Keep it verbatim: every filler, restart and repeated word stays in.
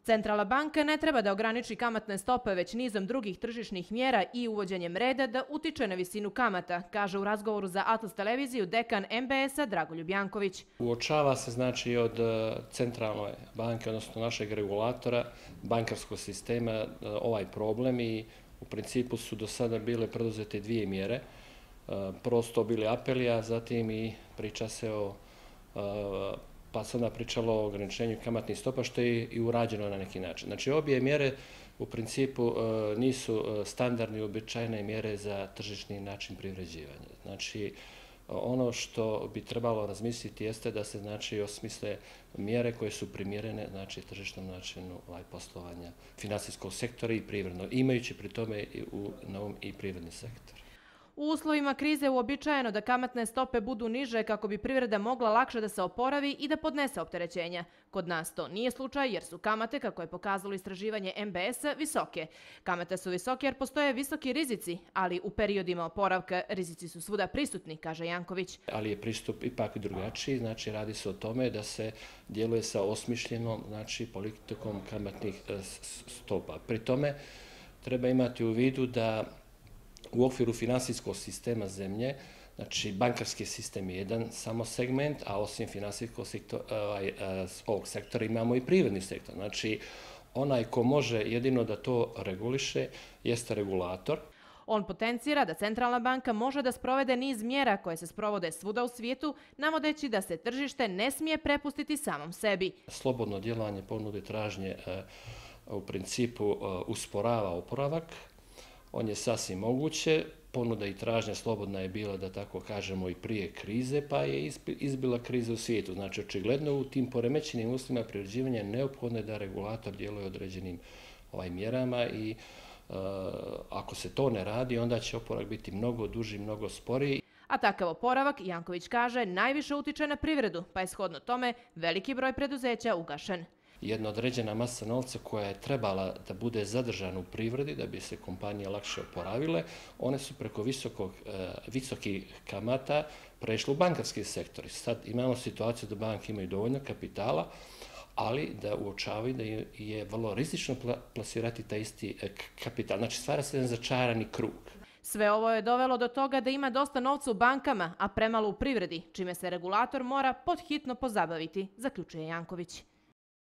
Centralna banka ne treba da ograniči kamatne stope već nizom drugih tržišnih mjera i uvođenjem reda da utiče na visinu kamata, kaže u razgovoru za Atlas televiziju dekan M B S-a Dragoljub Janković. Uočava se znači od centralne banke, odnosno našeg regulatora, bankarskog sistema ovaj problem i u principu su do sada bile preduzete dvije mjere. Prvo su to bili apeli, a zatim i priča se o pa se onda pričalo o ograničenju kamatnih stopa, što je i urađeno na neki način. Znači, obje mjere u principu nisu standardne i uobičajene mjere za tržišni način privređivanja. Znači, ono što bi trebalo razmisliti jeste da se znači osmisle mjere koje su primjerene znači tržišnom načinu poslovanja finansijskog sektora i privrednog, imajući pri tome na um i privredni sektor. U uslovima krize uobičajeno da kamatne stope budu niže kako bi privreda mogla lakše da se oporavi i da podnese opterećenja. Kod nas to nije slučaj jer su kamate, kako je pokazalo istraživanje M B S-a, visoke. Kamate su visoke jer postoje visoki rizici, ali u periodima oporavka rizici su svuda prisutni, kaže Janković. Ali je pristup ipak drugačiji, znači radi se o tome da se djeluje sa osmišljenom znači, politikom kamatnih stopa. Pri tome treba imati u vidu da u okviru finansijskog sistema zemlje, znači bankarski sistem je jedan samo segment, a osim finansijskog ovog sektora imamo i privredni sektor. Znači, onaj ko može jedino da to reguliše jeste regulator. On potencira da Centralna banka može da sprovede niz mjera koje se sprovode svuda u svijetu, navodeći da se tržište ne smije prepustiti samom sebi. Slobodno djelovanje ponude tražnje u principu usporava oporavak. On je sasvim moguće, ponuda i tražnja slobodna je bila, da tako kažemo, i prije krize, pa je izbila kriza u svijetu. Znači, očigledno u tim poremećenim uslovima privređivanja neophodno je da regulator djeluje određenim ovaj, mjerama i e, ako se to ne radi, onda će oporavak biti mnogo duži, mnogo sporiji. A takav oporavak, Janković kaže, najviše utiče na privredu, pa je shodno tome veliki broj preduzeća ugašen. Jedna određena masa novca koja je trebala da bude zadržana u privredi, da bi se kompanije lakše oporavile, one su preko visokog, visokih kamata prešle u bankarski sektor. Sad imamo situaciju da banke imaju dovoljno kapitala, ali da uočavaju da je vrlo rizično plasirati taj isti kapital. Znači stvara se jedan začarani krug. Sve ovo je dovelo do toga da ima dosta novca u bankama, a premalo u privredi, čime se regulator mora podhitno pozabaviti, zaključuje Janković.